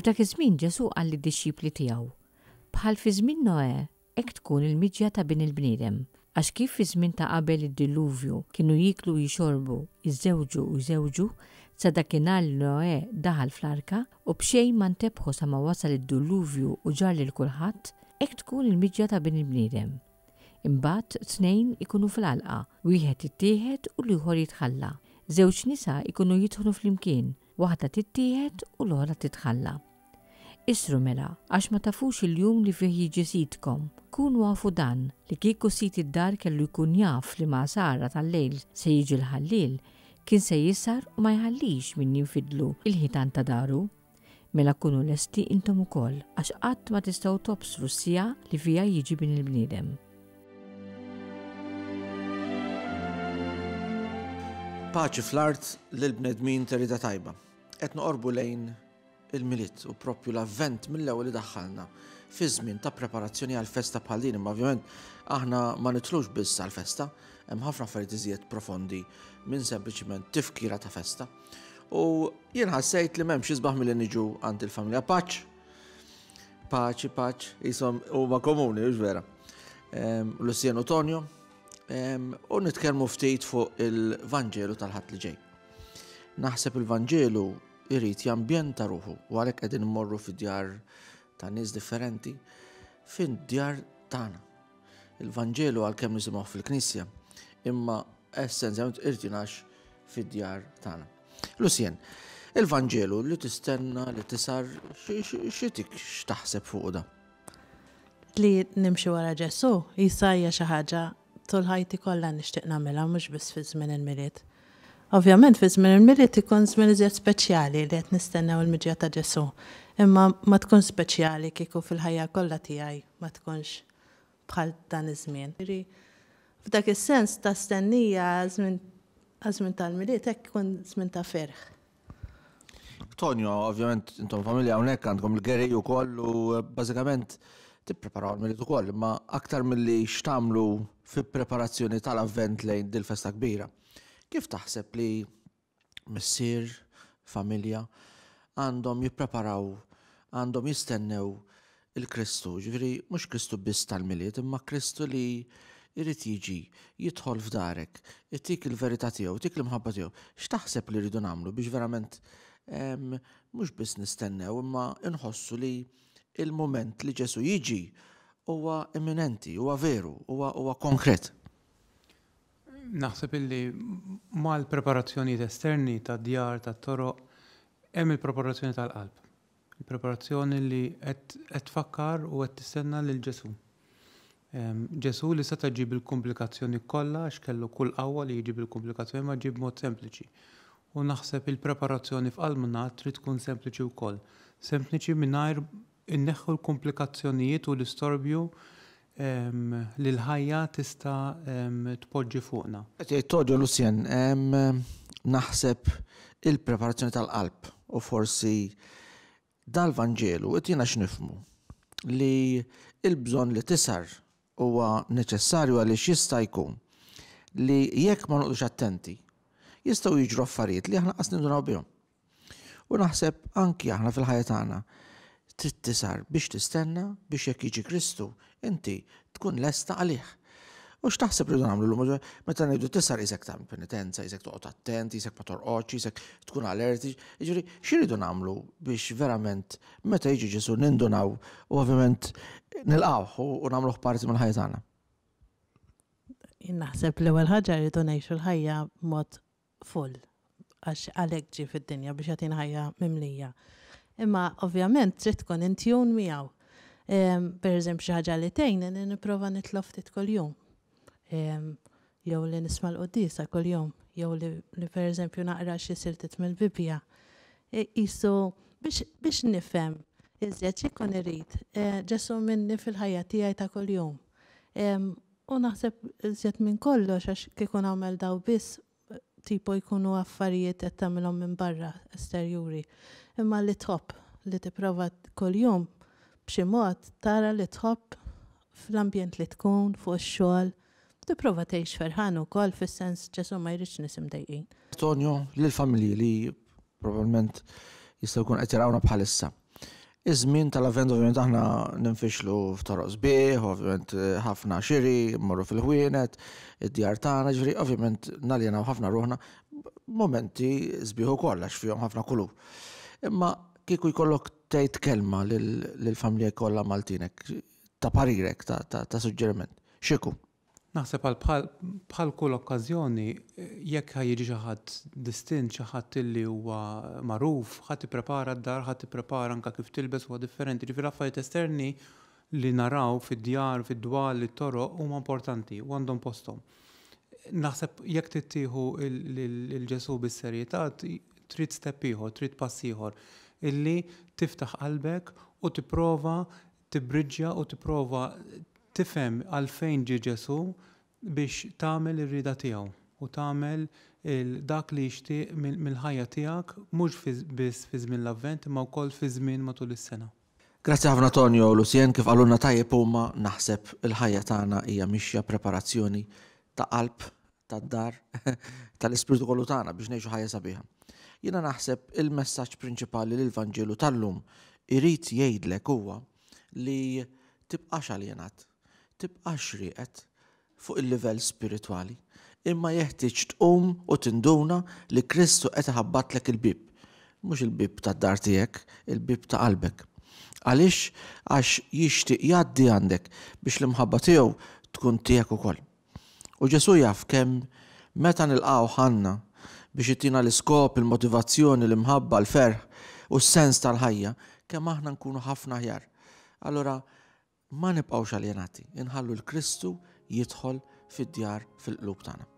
F'dak iż-żmien Ġesù qal lid-dixxipli tiegħu, Bħal fi żmien Noè, hekk tkun il-miġja ta' Bin il-bniedem. Għax kif fiż-żmien ta' qabel id-dilluvju kienu jieklu u jixorbu, jiżżewġu u jżewġu, sa dakinhar li Noè daħal fl-arka, u b'xejn ma ntebħu sa ma wasal id-dulluvju u ġarr lil kulħadd, hekk tkun il-miġja ta' Bin il-bniedem. Imbagħad tnejn ikunu fl-għalqa, wieħed jittieħed u l-ieħor jitħalla. Żewġ nisa jkunu jidħnu flimkien, waħda tittieħed u l-oħra titħalla. Isru mela, għax ma tafux il-jum li fih jiġi Sidkom. Kunu afu dan, li kieku sid id-dar kellu jkun jaf li ma' sahra tal-lejl se jiġi l-ħalliel, kien se jisahar u ma jħallix min jinfidlu l-ħitan ta' daru. Mela kunu lesti intom ukoll, għax qatt ma tistgħu tobsru s-siegħa li fiha jiġi Bin il-bniedem. Paċi fl-art lill-bnedmin ta' rieda tajba. Qed noqorbu lejn il-Milied u proprju l-Avvent mill-ewwel idaħħalna fi żmien ta' preparazzjoni għal festa bħal din, imma ovvjament aħna ma nitlux biss għal festa, hemm ħafna affarijiet iżjed profondi minn sempliċiment tifkira ta' festa. U jien ħassejt li m'hemmx isbaħ milli niġu għand il-familja Paċ. Paċi, Paċ, jisom huma komuni, hux vera. Ehm, Lucien u Tonio, ehm, u nitkellmu ftit fuq il-Vanġelu tal-ħadd li ġej. Naħseb il-Vanġelu irid jambjenta ruħu u għalhekk qegħdin immorru fi djar ta' nies differenti fin-djar tagħna. Il-Vanġelu għalkemm nisimgħu fil-Knisja, imma essenzjalment irid jingħax fid-djar tagħna. Lucien, il-Vanġelu li tistenna li tisar xitik x'taħseb fuq da? Li nimxi wara Ġesù jisa hija xi ħaġa Tul ħajti kollha nixtieq nagħmilha mhux biss fi żmien il-Milied. Ovvjament fi żmien il-Milied ikun żmien iżjed speċjali li qed nistennew il-miġja ta' Ġesù. Imma ma tkunx speċjali kieku fil-ħajja kollha tiegħi ma tkunx bħal dan iż-żmien. Jiġifieri f'dak is-sens ta' stennija għaż-żmien tal-Milied hekk ikun żmien ta' ferħ. Tonio, ovvjament intom familja hawnhekk għandkom il-Gary ukoll u eh, bażikament tippreparaw għall-Milied ukoll, imma aktar milli x'tagħmlu fi preparazzjoni tal-avvent lejn dil-festa kbira. Kif taħseb li missier, familja għandhom jippreparaw, għandhom jistennew il-Kristu, ġifieri mhux Kristu biss tal-Milied, imma Kristu li jrid jiġi, jidħol f'darek, itik il-verità tiegħu, itik l-imħabba tiegħu. X'taħseb li rridu nagħmlu biex verament mhux biss nistennew imma nħossu li il-mument li Ġesù jiġi huwa imminenti, huwa veru, huwa huwa konkret. Naħseb illi mal-preparazzjonijiet esterni tad-djar, tat-toroq, hemm il-preparazzjoni tal-qalb. Il-preparazzjoni li qed tfakkar u qed tistenna lil Ġesù. Ġesù li seta' ġie bil-kumplikazzjoni kollha għax kellu kull qawwa li jiġi bil-kumplikazzjoni imma ġie b'mod sempliċi. U naħseb il-preparazzjoni f'qalbna trid tkun sempliċi wkoll. Sempliċi mingħajr inneħħu l-kumplikazzjonijiet u l-istorbju li l-ħajja tista' tpoġġi fuqna. Qed jgħid Todio Lucien, naħseb il-preparazzjoni tal-qalb u forsi dal-Vanġelu itina x'nifhmu li l-bżonn li tisar huwa neċessarju għaliex jista' jkun li jekk ma noqogħdux attenti jistgħu jiġru affarijiet li aħna qas nindunaw bihom. U naħseb anki aħna fil-ħajja tagħna trid tisar biex tistenna biex jekk jiġi Kristu, inti tkun lesta għalih. U x'taħseb rridu nagħmlu llum? Meta ngħidu tisar isek tagħmel penitenza, isek toqgħod attent, isek ma torqodx, isek tkun alerti. Jiġifieri x'iridu nagħmlu biex verament meta jiġi Ġesu nindunaw u ovvjament nilqgħuh u nagħmluh parti mill-ħajja tagħna. Jien naħseb l-ewwel ħaġa rridu ngħixu l-ħajja b'mod full, għax għalhekk ġie fid-dinja biex jagħtina ħajja mimlija. Imma ovvjament trid tkun in tune miegħu. Per eżempju xi ħaġa li tgħin li nipprova nitlob ftit kuljum. Jew li nisma' l-quddiesa kuljum, jew li, li per eżempju naqra xi siltiet mill-Bibbja. Qisu biex, biex nifhem iżjed x'ikun irid Ġesù minni fil-ħajja tiegħi ta' kuljum. U naħseb iżjed minn kollox għax kieku nagħmel daw biss tipo jkunu affarijiet qed tagħmilhom minn barra esterjuri. Imma li tħobb, li tipprova kuljum b'xi mod tara li tħobb fl-ambjent li tkun, fuq ix-xogħol, tipprova tgħix ferħan ukoll fis-sens Ġesù ma jridx nies imdejqin. Tonio, lill-familji li probabbilment jistgħu jkunu qed jarawna bħalissa. Iż-żmien tal-Avvent ovvjament aħna ninfixlu f'toroq sbieħ, ovvjament ħafna xiri, mmorru fil-ħwienet, id-djar tagħna, ġifieri ovvjament naljenaw ħafna ruħna momenti sbieħ ukoll għax fihom ħafna kulur. Imma kieku jkollok tgħid kelma lill-familja kollha Maltinek ta' parirek, ta' suġġeriment, x'ikun? Naħseb għal bħal bħal kull okkażjoni, jekk ħa jiġi xi ħadd distint, xi ħadd illi huwa magħruf, ħa tipprepara d-dar, ħa tipprepara anke kif tilbes huwa differenti. Ġifieri l-affarijiet esterni li naraw fid-djar, fid-dwal, it-toroq huma importanti u għandhom posthom. Naħseb jekk trid tieħu lil Ġesù bis-serjetà trid step ieħor, trid pass ieħor, illi tiftaħ qalbek u tipprova tibbriġġja u tipprova tifhem għalfejn ġie Ġesù biex tagħmel ir-rieda tiegħu u tagħmel dak li jixtieq mill-ħajja tiegħek mhux biss fi żmien l-Avvent imma wkoll fi żmien matul is-sena. Grazzi ħafna Tonio u Lucien, kif qalulna tajjeb huma naħseb il-ħajja tagħna hija mixja preparazzjoni ta' qalb tad-dar tal-ispirtu kollu tagħna biex ngħixu ħajja sabiħa. Jiena naħseb il-messaġġ prinċipali li l-Vanġelu tal-lum irid jgħidlek huwa li tibqax aljenat, tibqax rieqed fuq il-livell spiritwali, imma jeħtieġ tqum u tinduna li Kristu qed iħabbatlek il-bieb. Mhux il-bieb tad-dar tiegħek, il-bieb ta' qalbek. Għaliex? Għax jixtieq jgħaddi għandek biex l-imħabba tiegħu tkun tiegħek ukoll. U Ġesù jaf kemm meta nilqgħuh għandna biex itina l-iskop, il-motivazzjoni, l-imħabba, l-ferħ u s-sens tal-ħajja, kemm aħna nkunu ħafna aħjar. Allura ma nibqgħux aljenati, inħallu l-Kristu jidħol fid-djar fil-qlub tagħna.